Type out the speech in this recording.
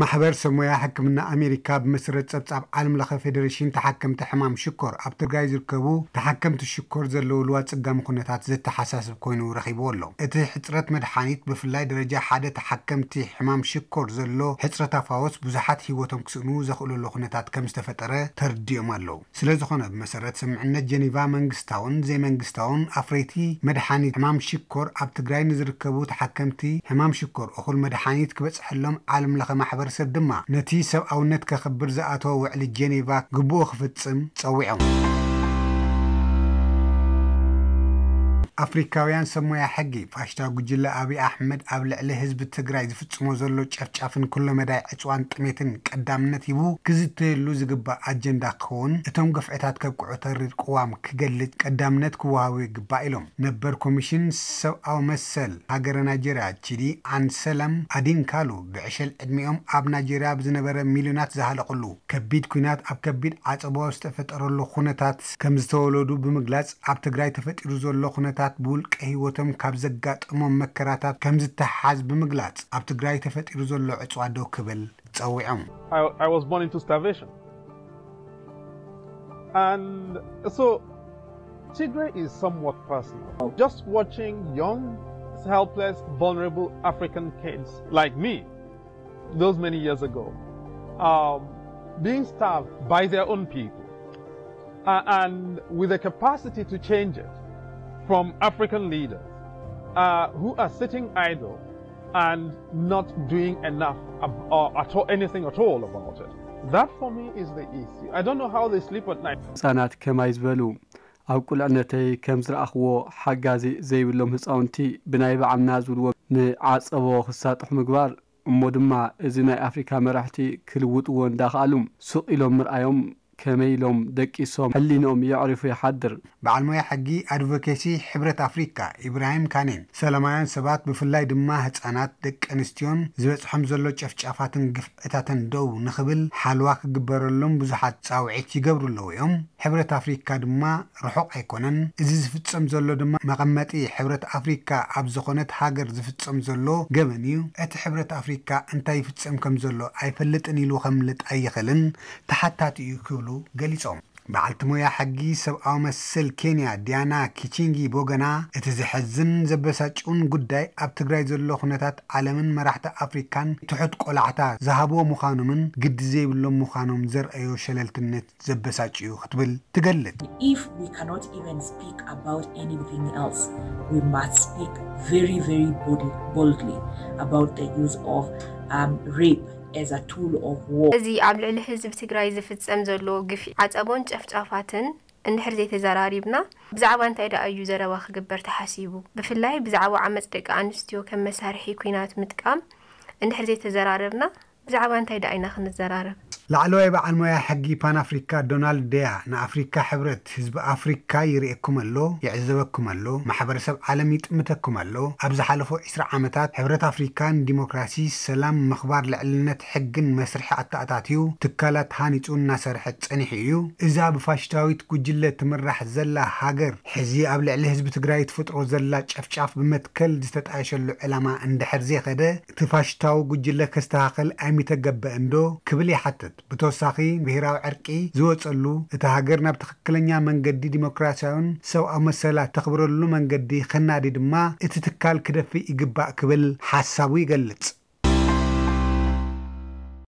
ማሕበር ሰብ ሞያ ሕክምና ኣሜሪካ ብመሰረት ጸብጻብ ዓለም ለኸ ፌዴሬሽን ተሓከምቲ ሕማም ሽኮር፣ ኣብ ትግራይ ዝርከቡ ተሓከምቲ ሽኮር ዘለውሉ ኣጸጋሚ ኩነታት ዘተሓሳስብ ኮይኑ ረኺብዎ ኣሎ። እቲ ሕጽረት መድሓኒት፣ ብፍላይ ደረጃ ሓደ ተሓከምቲ ሕማም ሽኮር ዘሎ ሕጽረት ኣፋወስ፣ ብዙሓት ህይወቶም ክስእኑ ዘኽእለሉ ኩነታት ከም ዝተፈጠረ ተረዲኦም ኣለዉ። ስለ ዝኾነ፣ ብመሰረት ስምምዕነት ጀኒቫ፣ መንግስታውን ዘይመንግስታውን ኣፍረይቲ መድሓኒት ሕማም ሽኮር ኣብ ትግራይ ንዝርከቡ ተሓከምቲ ሕማም ሽኮር እኹል መድሓኒት ክበጽሐሎም ዓለም ለኸ ማሕበረሰብ ድማ ነቲ ሰብኣውነት ከኽብር ዝኣተወ ውዕሊ ጀኔቫ ግቡኡ ክፍጽም ጸዊዖም። ኣፍሪካውያን ሰብ ሞያ ሕጊ፣ ፋሽስታዊ ጉጅለ ኣብይ ኣሕመድ ኣብ ልዕሊ ህዝቢ ትግራይ ዝፍጽሞ ዘሎ ጨፍጫፍን ኩለመዳይ ዕጽዋን ጥሜትን ቀዳምነት ሂቡ ክዝተየሉ ዝግባእ ኣጀንዳ ክኸውን፣ እቶም ግፍዕታት ከብቅዑ ተሪር ቅዋም ክገልጽ ቀዳምነት ክወሃቦ ይግባእ ኢሎም። ነበር ኮሚሽን ሰብኣዊ መሰል ሃገረ ናይጀርያ ቺዲ ኣንሰለም ኣዲንካሉ፣ ብዕሸል ዕድሚኦም ኣብ ናይጀርያ ብዝነበረ ሚልዮናት ዝሃለቕሉ ከቢድ ኲናት ኣብ ከቢድ ዓጸቦ ዝተፈጠረሉ ኩነታት ከም ዝተወለዱ ብምግላጽ፣ ኣብ ትግራይ ተፈጢሩ ዘሎ ኩነታት ብውልቀ ህይወቶም ካብ ዘጋጠሞም መከራታት ከም ዝተሓዝ ብምግላጽ፣ ኣብ ትግራይ ተፈጢሩ ዘሎ ዕጽዋ ደው ክብል ጸዊዖም። I, I was born into starvation. And so Tigray is somewhat personal. Just watching young, helpless, vulnerable African kids like me, those many years ago, um, being starved by their own people, uh, and with the capacity to change it from African leaders uh, who are sitting idle and not doing enough ab- or at all, anything at all about it. That for me is the issue. I don't know how they sleep at night. ህጻናት ከማይ ዝበሉ ኣብ ቁልዕነተይ ከም ዝረኣኽዎ ሓጋዚ ዘይብሎም ህጻውንቲ ብናይ በዓል ናዝውልዎ ንዓጸቦ ክሳጥሑ ምግባር እሞ ድማ እዚ ናይ ኣፍሪካ መራሕቲ ክልውጥዎ እንዳኸኣሉ ሱቕ ኢሎም ምርኣዮም ከመይ ኢሎም ደቂሶም ሕሊንኦም የዕሪፉ ይሓድር። በዓል ሞያ ሕጊ ኣድቮኬሲ ሕብረት ኣፍሪካ ኢብራሂም ካኔን ሰላማውያን ሰባት ብፍላይ ድማ ህፃናት ደቂ ኣንስትዮን ዝበፅሖም ዘሎ ጨፍጫፋትን ግፍዕታትን ደው ንኽብል ሓልዋ ክግበረሎም ብዙሓት ፃውዒት ይገብሩ ኣለዉ እዮም። ሕብረት ኣፍሪካ ድማ ርሑቕ ኣይኮነን። እዚ ዝፍፀም ዘሎ ድማ መቐመጢ ሕብረት ኣፍሪካ ኣብ ዝኾነት ሃገር ዝፍፀም ዘሎ ገበን እዩ። እቲ ሕብረት ኣፍሪካ እንታይ ይፍፀም ከም ዘሎ ኣይፈልጥን ኢሉ ከምልጥ ኣይኽእልን፣ ተሓታቲ እዩ ክብሉ ገሊፆም። በዓልቲ ሞያ ሕጊ ሰብኣዊ መሰል ኬንያ ዲያና ኪቺንጊ ቦገና፣ እቲ ዘሐዝን ዘበሳጭውን ጉዳይ ኣብ ትግራይ ዘሎ ኩነታት ዓለምን መራሕቲ ኣፍሪካን ትሑት ቆላዕታ ዝሃብዎ ምዃኖምን ግዲ ዘይብሎም ምዃኖም ዘርእዮ ሸለልትነት ዘበሳጭ እዩ ክትብል ትገልጽ። If we cannot even speak about anything else, we must speak very, very bold- boldly about the use of um, rape as a tool of war. እዚ ኣብ ልዕሊ ህዝቢ ትግራይ ዝፍጸም ዘሎ ግፍዒ፣ ዓጸቦን ጨፍጫፋትን እንድሕር ዘይተዘራሪብና ብዛዕባ እንታይ ደኣ እዩ ዘረባ ክግበር ተሓሲቡ? ብፍላይ ብዛዕባ ዓመጽ ደቂ ኣንስትዮ ከም መሳርሒ ኲናት ምጥቃም እንድሕር ዘይተዘራረብና ብዛዕባ እንታይ ደኣ ኢና ክንዘራረብ? ላዕለዋይ በዓል ሞያ ሕጊ ፓን ኣፍሪካ ዶናልድ ደያ ንኣፍሪካ ሕብረት ህዝቢ ኣፍሪካ ይርእየኩም ኣሎ፣ ይዕዘበኩም ኣሎ፣ ማሕበረሰብ ዓለም ይጥምተኩም ኣሎ። ኣብ ዝሓለፉ ዕስራ ዓመታት ሕብረት ኣፍሪካ ንዲሞክራሲ፣ ሰላም፣ ምኽባር ልዕልነት ሕግን መስርሒ ኣተኣታትዩ ትካላት ሃኒፁ እናሰርሐ ፀኒሑ እዩ። እዛ ብፋሽስታዊት ጉጅለ ትምራሕ ዘላ ሃገር ሕዚ ኣብ ልዕሊ ህዝቢ ትግራይ ትፍጥሮ ዘላ ጨፍጫፍ ብመትከል ዝተጣየሸሉ ዕላማ እንድሕር ዘይኸደ እቲ ፋሽስታዊ ጉጅለ ከስተኻኸል ኣይምተገበእን ዶ ክብል ይሓትት። ብተወሳኺ ብሄራዊ ዕርቂ ዝወፀሉ፣ እታ ሃገር ናብ ትኽክለኛ መንገዲ ዲሞክራሲያውን ሰብኣዊ መሰላት ተኽብረሉ መንገዲ ከናዲ ድማ እቲ ትካል ክደፍእ ይግባእ ክብል ሓሳቡ ይገልፅ።